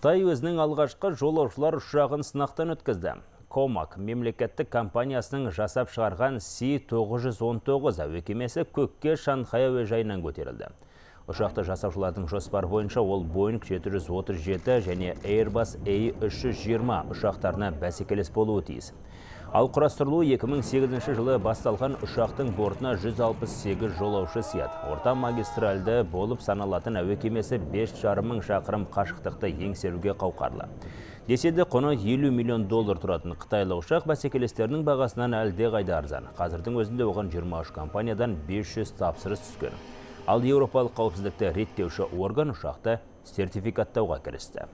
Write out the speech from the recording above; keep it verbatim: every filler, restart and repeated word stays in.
Қытай өзінің алғашқы жолаушылар ұшағын сынақтан өткізді. Комак мемлекеттік компаниясының жасап шығарған Си тоғыз жүз он тоғыз әуе кемесі көкке Шанхай әуежайынан көтерілді. Ұшақты жасаушылардың жоспар бойынша ол Боинг жеті жүз отыз жеті және Airbus A үш жүз жиырма ұшақтарына бәсекелес болуы тиіс. Ал құрастырылуы екі мың сегізінші жылы басталған ұшақтың бортына жүз алпыс сегіз жолаушы сияды. Орта магистральды болып саналатын әуе кемесі бес жарым мың шақырым қашықтықты еңсеруге қауқарлы. Деседе құны елу миллион доллар тұратын қытайлық ұшақ бәсекелестерінің бағасынан әлде қайда арзан. Қазірдің өзінде оған жиырма үш компаниядан бес жүз тапсырыс түскен. Ал Еуропалық қауіпсіздікті реттеуші орган ұшақты сертификаттауға кірісті.